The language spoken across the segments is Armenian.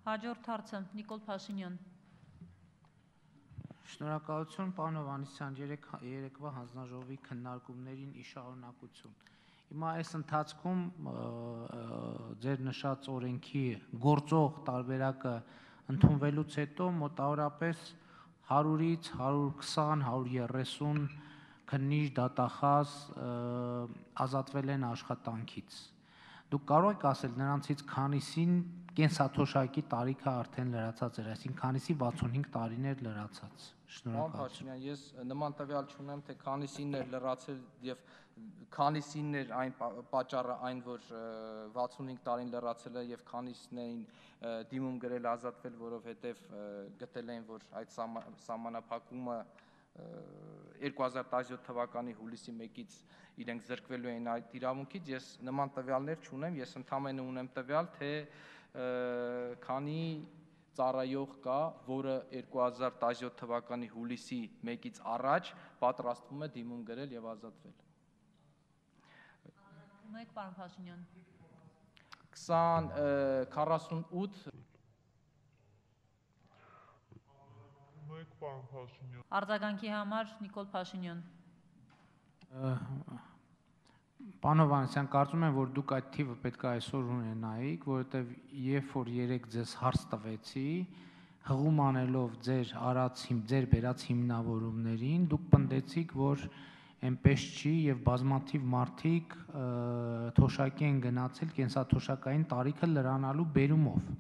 Հաջորդ հարցը Նիկոլ Փաշինյան։ Շնորհակալություն, պարոն Հովհաննիսյան, երեկվա հանձնաժողովի քննարկումներին ի շարունակություն։ Հիմա այս ընթացքում ձեր նշած օրենքի գործող տարբերակը ընդունվելուց հետո մոտավորապես 100-ից 120, 130 քննիչ դատախազ ազատվել են աշխատանքից։ Դուք կարող եք ասել նրանցից քանիսին կենսաթոշակի տարիքը արդեն լրացած էր, այսինքն քանիսի 65 տարիներ լրացած։ Շնորհակալություն։ Ես նման տվյալ չունեմ, թե քանիսին էր լրացել եւ քանիսին էր այն պատճառը այն, որ 65 տարին լրացել է եւ քանիսն էին դիմում գրել ազատվել, որովհետեւ գտել էին, որ այդ սահմանափակումը 2017 թվականի հուլիսի 1-ից իրենք զրկվելու են այդ իրավունքից, ես նման տվյալներ չունեմ, ես ընդհանրապես ունեմ տվյալ, թե քանի ծառայող կա, որը 2017 թվականի հուլիսի 1-ից առաջ պատրաստվում է դիմում գրել եւ ազատվել։ Մեկ պարոն Փաշինյան։ 48 Արձագանքի համար Նիկոլ Փաշինյան։ Պարոն Հովհաննիսյան, կարծում եմ, որ դուք այդ թիվը պետք է այսօր ունենայիք, որովհետև երբ որ երեք ձեզ հարց տվեցի, հղում անելով ձեր բերած հիմնավորումներին, դուք պնդեցիք, որ այնպես չի եւ բազմաթիվ մարդիկ թոշակի են գնացել կենսաթոշակային տարիքը լրանալու բերումով։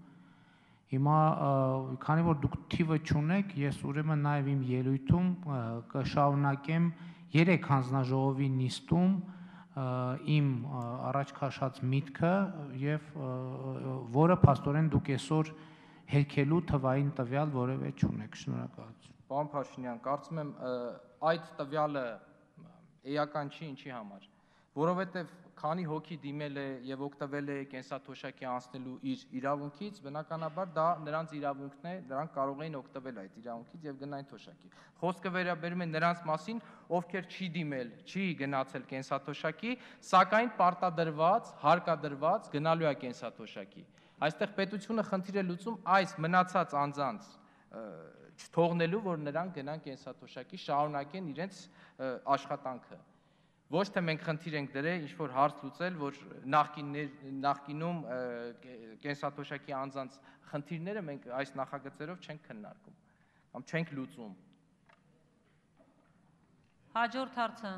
Հիմա քանի որ դուք թիվը չունեք, ես ուրեմն նաև իմ ելույթում կշարունակեմ 3 հանձնաժողովի նիստում իմ առաջ քաշած միտքը եւ որը փաստորեն դուք այսօր հերքելու թվային տվյալ որևէ չունեք։ Շնորհակալություն։ Պարոն Փաշինյան, կարծում եմ այդ տվյալը էական չի, ինչի համար, որովհետեւ քանի հոգի դիմել է եւ օգտվել է կենսաթոշակի անցնելու իր իրավունքից, բնականաբար դա նրանց իրավունքն է, նրանք կարող էին օգտվել այդ իրավունքից եւ գնային թոշակի։ Խոսքը վերաբերում է նրանց մասին, ովքեր չի դիմել, չի գնացել կենսաթոշակի, սակայն պարտադրված, հարկադրված գնալու է կենսաթոշակի։ Այստեղ պետությունը խնդիր է լուծում այս մնացած անձանց չթողնելու, որ նրանք գնան կենսաթոշակի, շարունակեն իրենց աշխատանքը։ Ոչ թե մենք խնդիր ենք դրել ինչ-որ հարց լուծել, որ նախկինում կենսաթոշակի անձանց խնդիրները մենք այս նախագծերով չենք քննարկում կամ չենք լուծում։ Հաջորդ հարցը